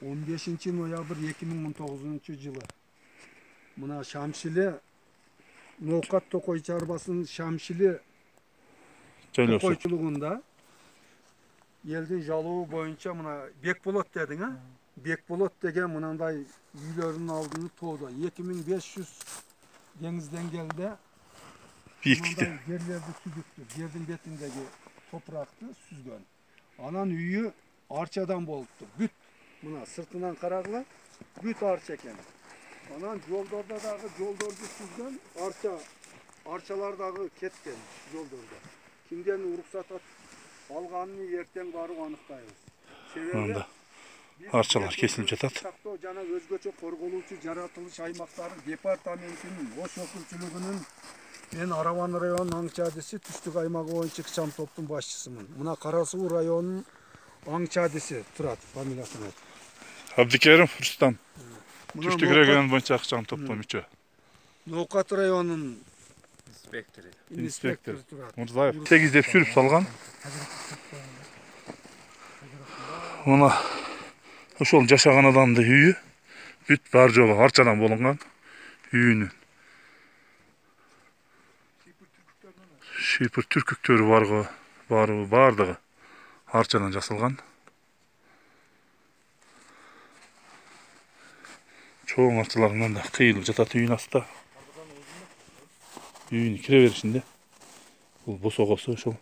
15-ноябрь 2019-жылы мына Шамшиле Ноокат Токой чарбасынын Шамшиле токойчулугунда элдин жалоо боюнча мына Бекболот дедиң, Бекболот деген мынандай үйлөрүнүн алдыны тоодо 2500 деңиз деңгээлде бийиктикте жерлерди сүзүптү, жердин бетиндеги топуракты сүзгөн. Анан үйү арчадан болупту. Бүт мына сыртынан карагыла, бүт арча экен. Анан жолдордо дагы жолдорду сүзгөн, арчалар дагы кеткен жолдордо. Кимден уруксат алганын эртең барып аныктайбыз. Себеби арчалар кесилип жатат. Жана өзгөчө корголуучу жаратылыш аймактары департаментинин Ош өкүлчүлүгүнүн мен Араван районунун аңчадиси түштүк аймагы боюнча ыкчам топтун башчысымын. Мына Кара Суу районунун аңчадиси турат, фамилиясын айт. Абдикерим Рустам. Түштүк район боюнча ыкчам топтун мүчө. Ноокат районунун инспектор турат. Мурзаев тегиздеп сүрүп салган. Мына ошол жашаган адамдын үйү бүт бар жолу арчадан болгон үйүнүн. Шипыр түркүктөрү бардыгы арчадан жасалган. Чоң арчаларынан да кыйылып жатат үйүн астында. Үйүнүн кире беришинде. Бул босогосу ошол.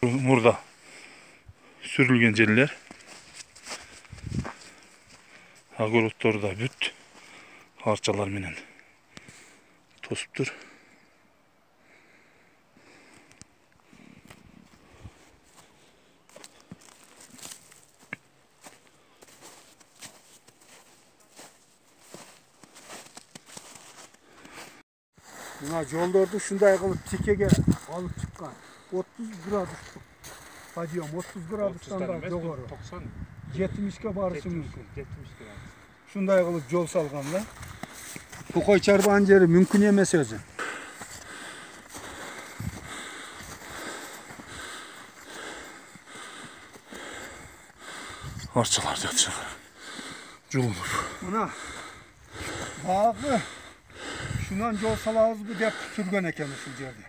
Мурда сүрүлгөн жерлер. Огороддор да бүт арчалар менен тосуптур. Мына жолдорду ушундай кылып тикеге алып чыккан. 30 градустук подъем, 30 градустан да жогору. 70ке барышы мүмкүн. 70 градус. Ушундай кылып жол салган да. Токой чарбанын жери мүмкүн эмес өзү. Арчалар жатышат. Жолунуп. Мына багы шунан жол салабызбы деп сүргөн экен ушул жерде.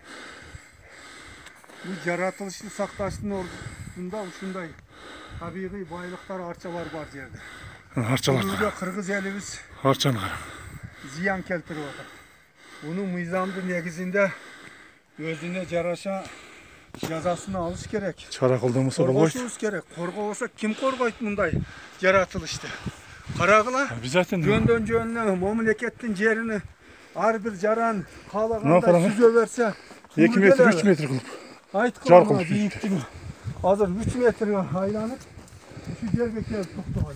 Бул жаратылышты сакташтын ордунда ушундай табигый байлыктар, арчалар бар жерде. Арчалар. Кыргыз элибиз арчаны зыян келтирип атат. Мунун мыйзамдын негизинде өзүнө жараша жазасын алыш керек. Чара колдонбосо болбойт. Коргошубуз керек. Коргобосо ким коргойт мындай жаратылышты? Карагыла. Обязательно. Жөндөн жөнүнө мамлекеттин жерини ар бир жаран каалагандай сүзө берсе, 2 метр 3 метр кылып. Айткыла бийиктиги азыр 3 метрге айланып, ушу жерге келип токтогон.